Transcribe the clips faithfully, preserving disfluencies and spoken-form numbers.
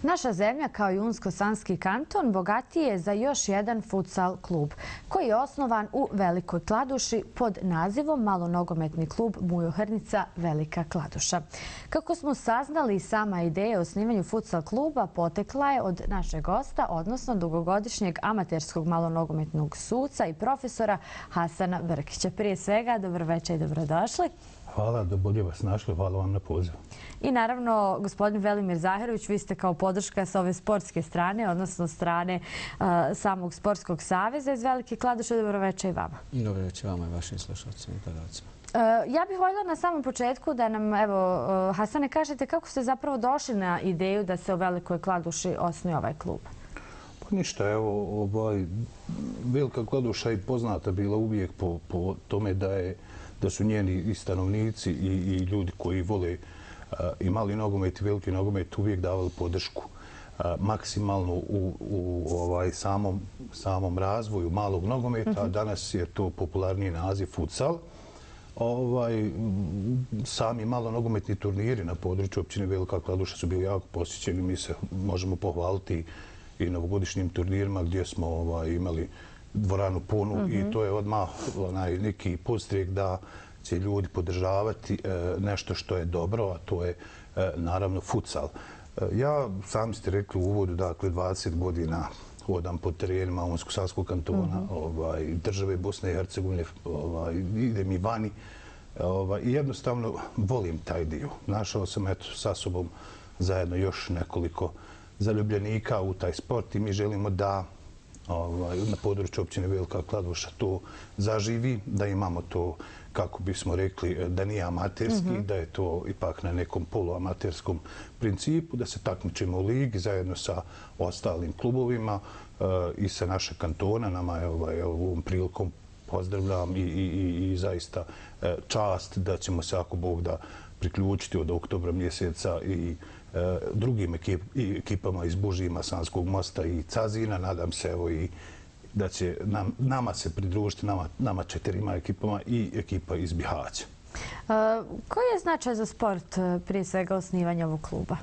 Naša zemlja, kao i Unsko-Sanski kanton, bogatiji je za još jedan futsal klub, koji je osnovan u Velikoj Kladuši pod nazivom Malonogometni klub Mujo Hrnica Velika Kladuša. Kako smo saznali, sama ideja o osnivanju futsal kluba potekla je od našeg gosta, odnosno dugogodišnjeg amaterskog malonogometnog suca i profesora Hasana Brkića. Prije svega, dobro večer i dobrodošli. Hvala, da bolje vas našli. Hvala vam na pozivu. I naravno, gospodin Velimir Zaherović, vi ste kao podrška sa ove sportske strane, odnosno strane uh, samog Sportskog saveza iz Velike Kladuše. Dobro večer i vama. Dobro večer vama i vašim slušalcima i gledalcima. Uh, ja bih voljela na samom početku da nam, evo, uh, Hasane, kažete kako ste zapravo došli na ideju da se u Velikoj Kladuši osnuje ovaj klub? Pa ništa, evo, ovaj, Velika Kladuša je poznata bila uvijek po, po tome da je da su njeni i stanovnici i, i ljudi koji vole uh, i mali nogomet i veliki nogomet uvijek davali podršku uh, maksimalno u, u ovaj, samom, samom razvoju malog nogometa. Mm-hmm. Danas je to popularniji naziv futsal. Ovaj, sami malo nogometni turniri na području općine Velika Kladuša su bili jako posjećeni. Mi se možemo pohvaliti i novogodišnjim turnirima gdje smo ovaj, imali dvoranu punu. Mm-hmm. I to je odmah onaj neki podstrijek da će ljudi podržavati e, nešto što je dobro, a to je e, naravno futsal. E, ja, sami ste rekli u uvodu, dakle dvadeset godina hodam po terenima Unsko-Sanskog kantona, mm-hmm. ovaj, države Bosne i Hercegovine, ovaj, idem i vani ovaj, i jednostavno volim taj dio. Našao sam eto, sa sobom zajedno još nekoliko zaljubljenika u taj sport i mi želimo da ovaj, na području općine Velika Kladuša to zaživi, da imamo to, kako bismo rekli, da nije amaterski, mm-hmm. da je to ipak na nekom poluamaterskom principu, da se takmičimo u ligi zajedno sa ostalim klubovima uh, i sa našeg kantona. Nama je ovaj, ovom prilikom pozdravljam i, i, i, i zaista uh, čast da ćemo se, ako Bog da, priključiti od oktobra mjeseca i uh, drugim ekip, i ekipama iz Bužima, Sanskog mosta i Cazina. Nadam se evo i da će nam, nama se pridružiti, nama, nama četirima ekipama i ekipa iz Bihaća. Uh, koji je značaj za sport prije svega osnivanja ovog kluba?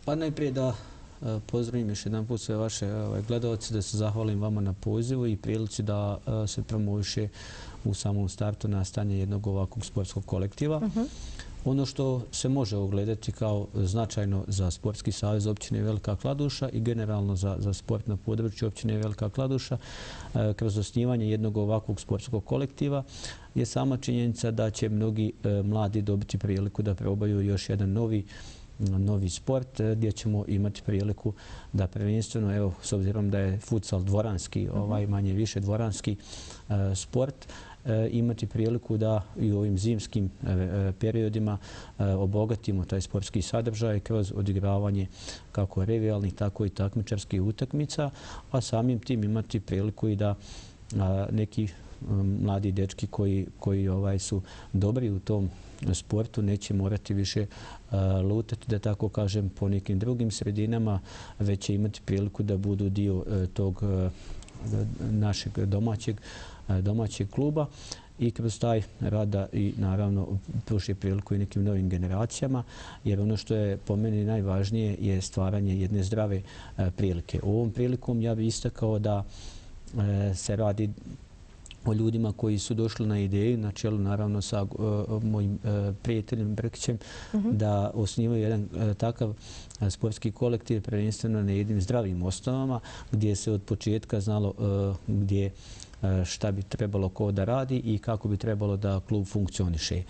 Pa najprije da uh, pozdravim još jedan put sve vaše ovaj, gledalce, da se zahvalim vama na pozivu i prilici da uh, se promoviše u samom startu nastanje jednog ovakvog sportskog kolektiva. Uh-huh. Ono što se može ogledati kao značajno za Sportski savez općine Velika Kladuša i generalno za, za sport na području općine Velika Kladuša e, kroz osnivanje jednog ovakvog sportskog kolektiva je sama činjenica da će mnogi e, mladi dobiti priliku da probaju još jedan novi novi sport gdje ćemo imati priliku da prvenstveno, evo, s obzirom da je futsal dvoranski, ovaj manje više dvoranski e, sport, imati priliku da i u ovim zimskim periodima obogatimo taj sportski sadržaj kroz odigravanje kako revijalnih, tako i takmičarskih utakmica, a samim tim imati priliku i da neki mladi dečki koji, koji ovaj, su dobri u tom sportu neće morati više lutati, da tako kažem, po nekim drugim sredinama, već će imati priliku da budu dio tog našeg domaćeg domaćeg kluba i kroz taj rada i naravno pruži priliku i nekim novim generacijama, jer ono što je po meni najvažnije je stvaranje jedne zdrave prilike. U ovom prilikom ja bih istakao da se radi o ljudima koji su došli na ideju, na čelu naravno sa uh, mojim uh, prijateljem Brkićem, mm-hmm. da osnivaju jedan uh, takav uh, sportski kolektiv prvenstveno na jednim zdravim osnovama gdje se od početka znalo uh, gdje uh, šta bi trebalo ko da radi i kako bi trebalo da klub funkcioniše.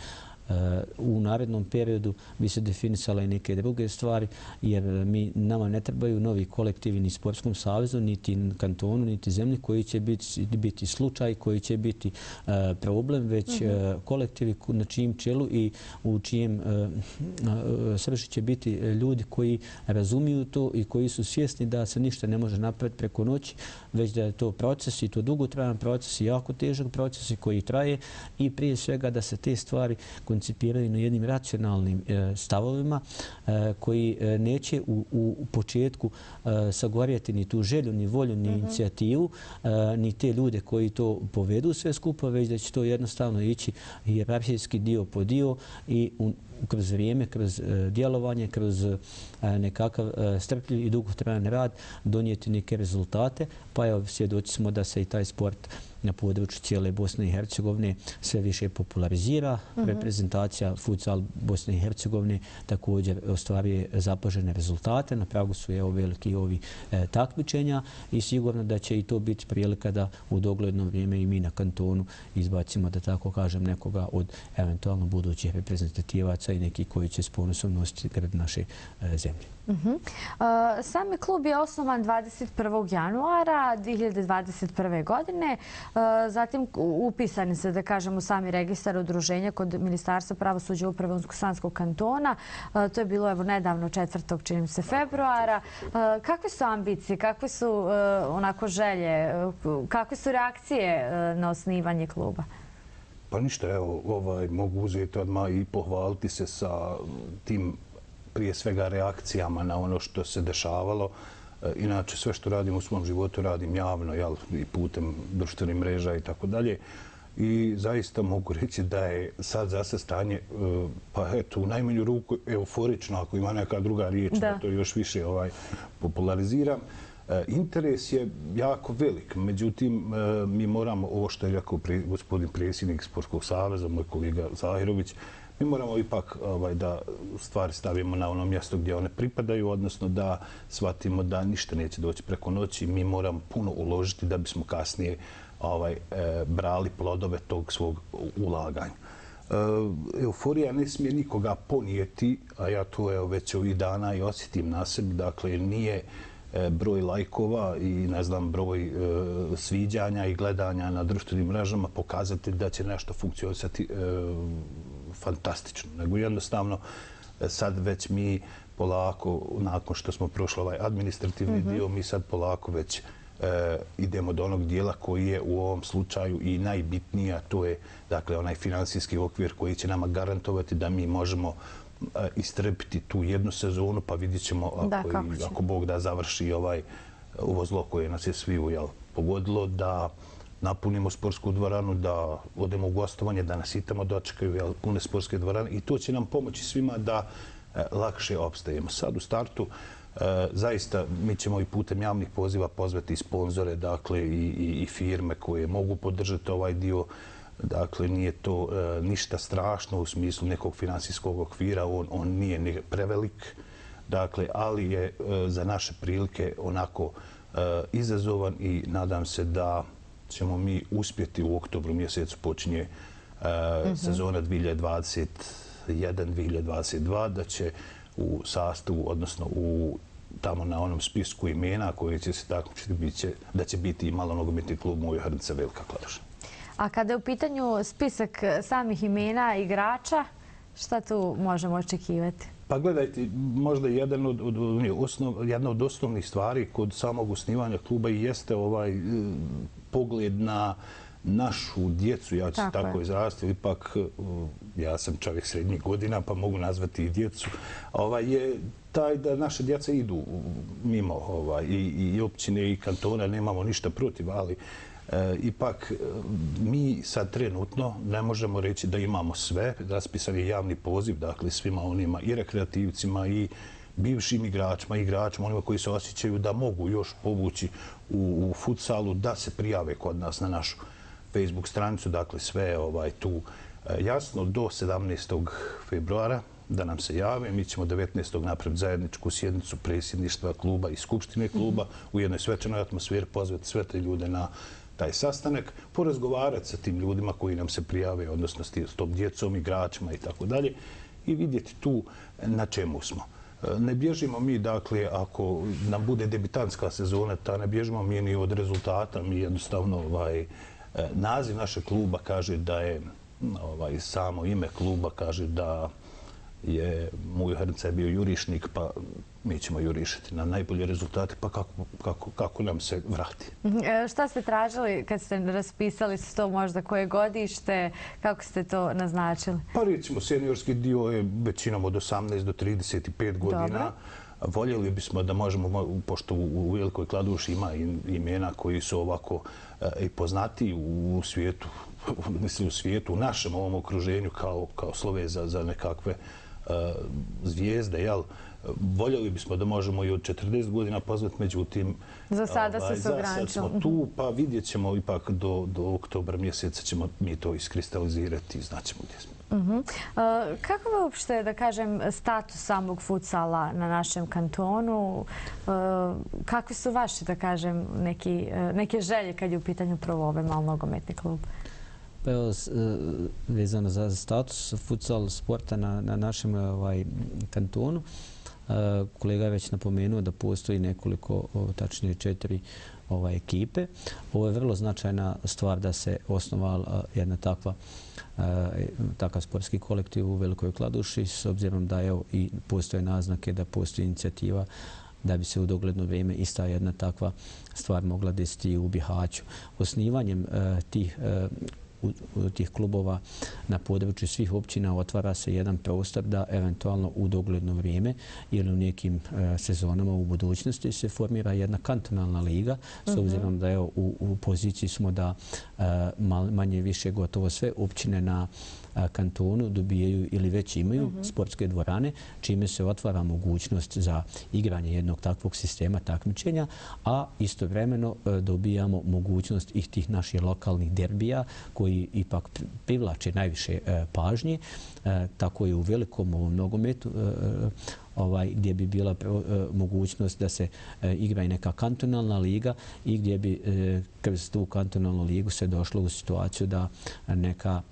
U narednom periodu bi se definisale i neke druge stvari, jer mi, nama ne trebaju novi kolektivi ni Sportskom savezu, niti kantonu, niti zemlji koji će biti, biti slučaj, koji će biti uh, problem, već mm-hmm. uh, kolektivi na čijem čelu i u čijem uh, uh, srži će biti ljudi koji razumiju to i koji su svjesni da se ništa ne može napraviti preko noći, već da je to proces i to dugotrajan proces i jako težak proces i koji traje i prije svega da se te stvari koncipiraju na jednim racionalnim e, stavovima e, koji e, neće u, u početku e, sagorjeti ni tu želju, ni volju, ni mm-hmm. inicijativu, e, ni te ljude koji to povedu sve skupa, već da će to jednostavno ići hijerarhijski dio po dio i u, kroz vrijeme, kroz djelovanje, kroz nekakav strpljiv i dugotrajan rad donijeti neke rezultate. Pa evo, svjedoci smo da se i taj sport na području cijele Bosne i Hercegovine sve više popularizira. Mm-hmm. Reprezentacija futsal Bosne i Hercegovine također ostvaruje zapažene rezultate. Na pragu su evo veliki ovi e, takmičenja i sigurno da će i to biti prilika da u dogledno vrijeme i mi na kantonu izbacimo, da tako kažem, nekoga od eventualno budućih reprezentativaca i neki koji će s ponosom nositi grb naše e, zemlje. Uh-huh. uh, Sami klub je osnovan dvadeset prvog januara dvije hiljade dvadeset prve. godine. Uh, zatim upisani se, da kažemo, sami registar udruženja kod Ministarstva pravosuđa uprave Unsko-Sanskog kantona. Uh, to je bilo evo nedavno četvrtog čini mi se februara. Uh, kakve su ambicije, kakve su uh, onako želje, uh, kakve su reakcije uh, na osnivanje kluba? Pa ništa, evo, ovaj, mogu uzeti odmah i pohvaliti se sa tim prije svega reakcijama na ono što se dešavalo. Inače, sve što radim u svom životu radim javno, jel, i putem društvenih mreža i tako dalje. I zaista mogu reći da je sad zase stanje, pa eto, u najmanju ruku euforično, ako ima neka druga riječ, da, da to još više ovaj, populariziram. Interes je jako velik, međutim, mi moramo, ovo što je rekao gospodin predsjednik Sportskog saveza, moj kolega Zahirović, mi moramo ipak ovaj, da stvari stavimo na ono mjesto gdje one pripadaju, odnosno da shvatimo da ništa neće doći preko noći. Mi moramo puno uložiti da bismo kasnije ovaj, e, brali plodove tog svog ulaganja. E, euforija ne smije nikoga ponijeti, a ja to evo, već ovih dana i osjetim na sebi. Dakle, nije e, broj lajkova i ne znam, broj e, sviđanja i gledanja na društvenim mrežama pokazati da će nešto funkcionisati e, fantastično, nego jednostavno sad već mi polako, nakon što smo prošli ovaj administrativni mm-hmm. dio, mi sad polako već e, idemo do onog dijela koji je u ovom slučaju i najbitniji, a to je dakle onaj financijski okvir koji će nama garantovati da mi možemo e, istrpiti tu jednu sezonu, pa vidjet ćemo ako, da, i, ako Bog da završi ovaj ovo zlo koje nas je sviju jel, pogodilo, da napunimo sportsku dvoranu, da odemo u gostovanje, da nas i tamo dočekaju jel, pune sportske dvorane i to će nam pomoći svima da e, lakše opstajemo. Sad u startu e, zaista mi ćemo i putem javnih poziva pozvati i sponzore, dakle i, i, i firme koje mogu podržati ovaj dio. Dakle, nije to e, ništa strašno u smislu nekog finansijskog okvira, on, on nije ni prevelik, dakle, ali je e, za naše prilike onako e, izazovan i nadam se da ćemo mi uspjeti u oktobru mjesecu počinje uh, mm-hmm. sezona dvije hiljade dvadeset jedan dvije hiljade dvadeset dva, da će u sastavu, odnosno u tamo na onom spisku imena koji će se takmičiti, da će biti i malonogometni klub Mujo Hrnica Velika Kladuša. A kada je u pitanju spisak samih imena igrača, šta tu možemo očekivati? Pa gledajte, možda jedan od, od, osnov, jedna od osnovnih stvari kod samog osnivanja kluba i jeste ovaj pogled na našu djecu, ja ću tako, tako izrasti, ipak ja sam čovjek srednjih godina pa mogu nazvati i djecu, ovaj, je taj da naše djeca idu mimo ovaj, i, i općine i kantona, nemamo ništa protiv, ali E, ipak mi sad trenutno ne možemo reći da imamo sve. Raspisan je javni poziv, dakle svima onima i rekreativcima i bivšim igračima, igračima, onima koji se osjećaju da mogu još povući u, u futsalu, da se prijave kod nas na našu Facebook stranicu. Dakle, sve ovaj, tu e, jasno do sedamnaestog februara da nam se jave. Mi ćemo devetnaestog napraviti zajedničku sjednicu predsjedništva kluba i skupštine kluba u jednoj svečanoj atmosferi, pozvati sve te ljude na taj sastanak, porazgovarati sa tim ljudima koji nam se prijave, odnosno s tom djecom, igračima i tako dalje, i vidjeti tu na čemu smo. Ne bježimo mi, dakle, ako nam bude debitantska sezona, ta ne bježimo mi ni od rezultata. Mi jednostavno, ovaj, naziv našeg kluba kaže da je, ovaj, samo ime kluba kaže da je Mujo Hrnica je bio jurišnik, pa mi ćemo jurišiti na najbolje rezultate, pa kako, kako, kako nam se vrati. E, šta ste tražili kad ste raspisali to možda koje godište, kako ste to naznačili? Pa recimo, seniorski dio je većinom od osamnaest do trideset pet godina. Dobro. Voljeli bismo da možemo, pošto u Velikoj Kladuši ima imena koji su ovako i poznati u svijetu, mislim u svijetu, u našem ovom okruženju kao, kao slove za, za nekakve zvijezde, jel? Voljeli bismo da možemo i od četrdeset godina pozvati, međutim... Za sada se se ograničilo. Za sad smo tu, pa vidjet ćemo ipak do, do oktobra mjeseca ćemo mi to iskristalizirati i znaćemo gdje smo. Uh-huh. uh, kako je uopšte, da kažem, status samog futsala na našem kantonu? Uh, kakvi su vaše, da kažem, neki, uh, neke želje kad je u pitanju prvo ovaj malnogometni klub? Pa evo, vezano za status futsal sporta na, na našem ovaj, kantonu, kolega je već napomenuo da postoji nekoliko, tačnije četiri ovaj, ekipe. Ovo je vrlo značajna stvar da se osnovala jedna takva takav sportski kolektiv u Velikoj Kladuši, s obzirom da evo, i postoje naznake da postoji inicijativa da bi se u dogledno vrijeme ista jedna takva stvar mogla desiti u Bihaću. Osnivanjem tih tih klubova na području svih općina otvara se jedan prostor da eventualno u dogledno vrijeme ili u nekim sezonama u budućnosti se formira jedna kantonalna liga, s obzirom da evo, u, u poziciji smo da manje više gotovo sve općine na kantonu dobijaju ili već imaju uh-huh. sportske dvorane, čime se otvara mogućnost za igranje jednog takvog sistema takmičenja, a istovremeno dobijamo mogućnost i tih naših lokalnih derbija koji ipak privlače najviše pažnje. Tako je u velikom ovom nogometu ovaj, gdje bi bila mogućnost da se igra i neka kantonalna liga i gdje bi kroz tu kantonalnu ligu se došlo u situaciju da neka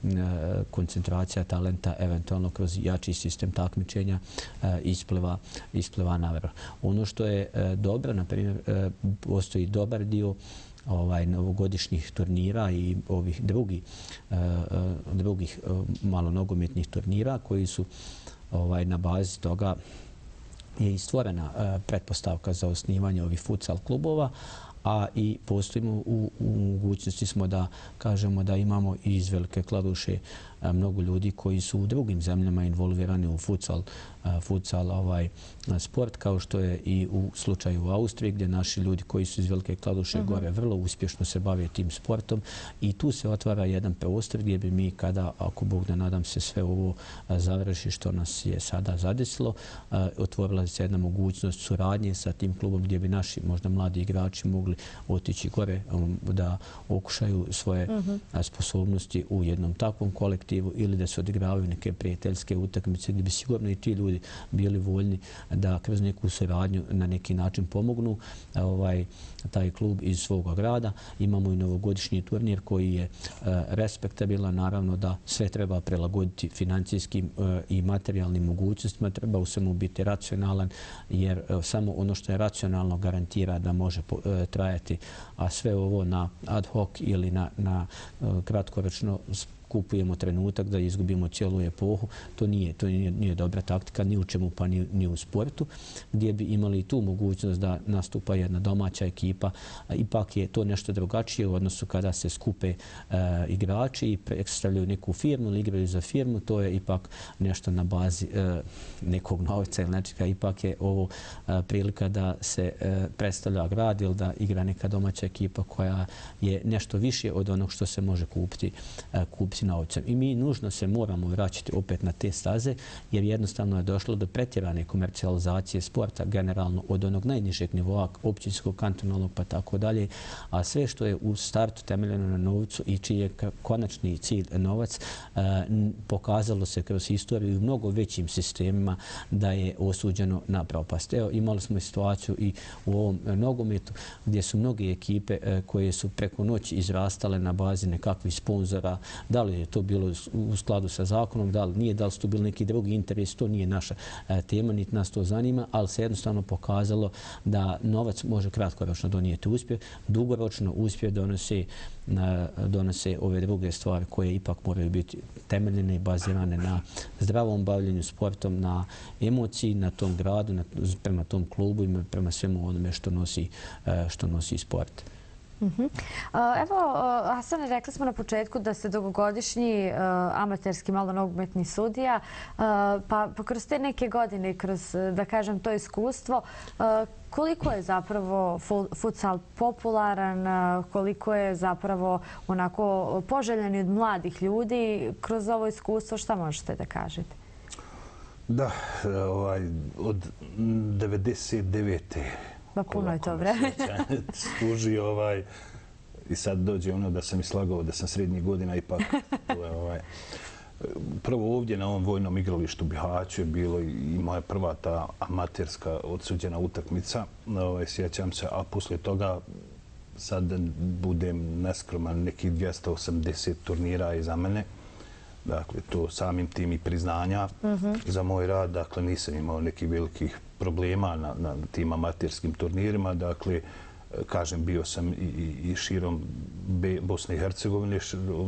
koncentracija talenta eventualno kroz jači sistem takmičenja ispliva, ispliva na vrh. Ono što je dobro, na primjer, postoji dobar dio ovaj novogodišnjih turnira i ovih drugih uh, drugih uh, malonogometnih turnira koji su ovaj na bazi toga je i stvorena uh, pretpostavka za osnivanje ovih futsal klubova, a i postojimo u, u mogućnosti smo da kažemo da imamo iz Velike Kladuše mnogo ljudi koji su u drugim zemljama involvirani u futsal, futsal ovaj, sport, kao što je i u slučaju u Austriji, gdje naši ljudi koji su iz Velike Kladuše uh-huh. gore vrlo uspješno se bave tim sportom i tu se otvara jedan prostor gdje bi mi, kada, ako Bog da nadam se, sve ovo završi što nas je sada zadesilo, otvorila se jedna mogućnost suradnje sa tim klubom gdje bi naši možda mladi igrači mogli otići gore da okušaju svoje uh-huh. sposobnosti u jednom takvom kolektivu ili da se odigravaju neke prijateljske utakmice gdje bi sigurno i ti ljudi bili voljni da kroz neku suradnju na neki način pomognu ovaj, taj klub iz svog grada. Imamo i novogodišnji turnir koji je uh, respektabilan. Naravno da sve treba prilagoditi financijskim uh, i materijalnim mogućnostima. Treba u svemu biti racionalan jer uh, samo ono što je racionalno garantira da može uh, trajati, a sve ovo na ad hoc ili na, na uh, kratkoročno kupujemo trenutak da izgubimo cijelu epohu. To nije, to nije, nije dobra taktika ni u čemu pa ni, ni u sportu, gdje bi imali tu mogućnost da nastupa jedna domaća ekipa. Ipak je to nešto drugačije u odnosu kada se skupe uh, igrači i predstavljaju neku firmu ili igraju za firmu. To je ipak nešto na bazi uh, nekog novca ili nečega. Ipak je ovo uh, prilika da se uh, predstavlja grad ili da igra neka domaća ekipa koja je nešto više od onog što se može kupiti, uh, kupiti novcem. I mi nužno se moramo vraćati opet na te staze jer jednostavno je došlo do pretjerane komercijalizacije sporta generalno od onog najnižeg nivoa općinskog, kantonalnog pa tako dalje, a sve što je u startu temeljeno na novcu i čiji je konačni cilj novac pokazalo se kroz historiju u mnogo većim sistemima da je osuđeno na propast. Evo, imali smo situaciju i u ovom nogometu gdje su mnoge ekipe koje su preko noći izrastale na bazi nekakvih sponzora, da li je to bilo u skladu sa zakonom, da li nije, da li su to bili neki drugi interes, to nije naša tema, niti nas to zanima, ali se jednostavno pokazalo da novac može kratkoročno donijeti uspjeh, dugoročno uspjeh donose, donose ove druge stvari koje ipak moraju biti temeljene i bazirane na zdravom bavljenju sportom, na emociji, na tom gradu, na, prema tom klubu i prema svemu onome što nosi, što nosi sport. Uh-huh. Evo, Hasane, rekli smo na početku da ste dugogodišnji uh, amaterski malonogometni sudija, uh, pa, pa kroz te neke godine, kroz, da kažem, to iskustvo, uh, koliko je zapravo futsal popularan, uh, koliko je zapravo onako poželjen od mladih ljudi kroz ovo iskustvo, šta možete da kažete? Da, ovaj, od devedeset devete. Pa puno je to vreme. Služi ovaj, i sad dođe ono da sam i slagao da sam srednjih godina ipak. To je, ovaj, prvo ovdje na ovom vojnom igralištu Bihaću je bilo i moja prva ta amaterska odsuđena utakmica. Ovaj, sjećam se, a poslije toga sad budem neskroman, nekih dvjesto osamdeset turnira iza mene. Dakle, to samim tim i priznanja za moj rad. Dakle, nisam imao nekih velikih problema na, na tim amaterskim turnirima. Dakle, kažem, bio sam i, i, i širom Be, Bosne i Hercegovine,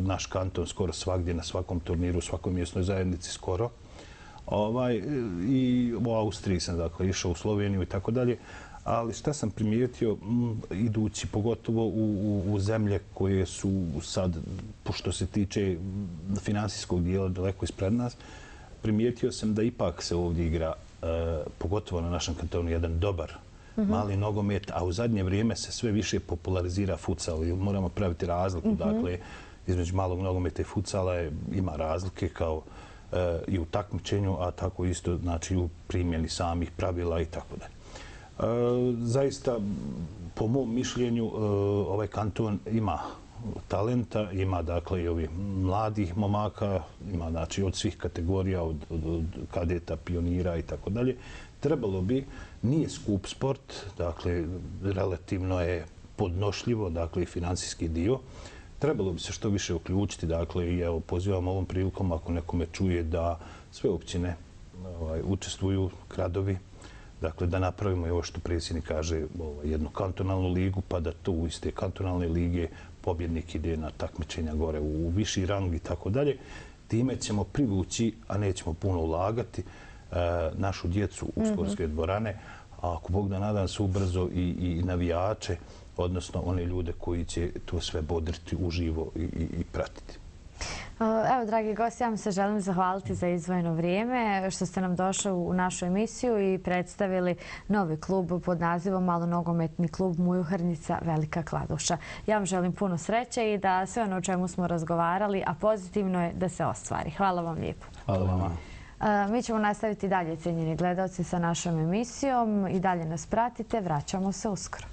naš kanton skoro svagdje, na svakom turniru, u svakoj mjesnoj zajednici skoro. Ovaj, i u Austriji sam, dakle, išao u Sloveniju i tako dalje. Ali šta sam primijetio, m, idući pogotovo u, u, u zemlje koje su sad, što se tiče finansijskog dijela, daleko ispred nas, primijetio sam da ipak se ovdje igra, e, pogotovo na našem kantonu, jedan dobar mm-hmm. mali nogomet, a u zadnje vrijeme se sve više popularizira futsal. I moramo praviti razliku, mm-hmm. dakle, između malog nogometa i futsala je, ima razlike kao e, i u takmičenju, a tako isto znači u primjeni samih pravila i tako dalje. E, zaista, po mom mišljenju, e, ovaj kanton ima talenta, ima dakle i ovih mladih momaka, ima znači od svih kategorija, od, od, od kadeta, pionira i tako dalje. Trebalo bi, nije skup sport, dakle relativno je podnošljivo, dakle i financijski dio. Trebalo bi se što više uključiti, dakle i evo pozivam ovom prilikom ako nekome čuje da sve općine ovaj, učestvuju, gradovi, dakle da napravimo i ovo što predsjednik kaže, ovaj, jednu kantonalnu ligu, pa da to u iste kantonalne lige pobjednik ide na takmičenja gore u viši rang i tako dalje. Time ćemo privući, a nećemo puno ulagati, našu djecu u sportske dvorane, a ako Bog da nadam se ubrzo i, i navijače, odnosno one ljude koji će to sve bodriti uživo i, i, i pratiti. Evo, dragi gosti, ja vam se želim zahvaliti za izdvojeno vrijeme što ste nam došli u našu emisiju i predstavili novi klub pod nazivom Malonogometni klub Mujuhrnica Velika Kladuša. Ja vam želim puno sreće i da sve ono o čemu smo razgovarali, a pozitivno je da se ostvari. Hvala vam lijepo. Hvala vama. Mi ćemo nastaviti dalje, cijenjeni gledalci, sa našom emisijom. I dalje nas pratite, vraćamo se uskoro.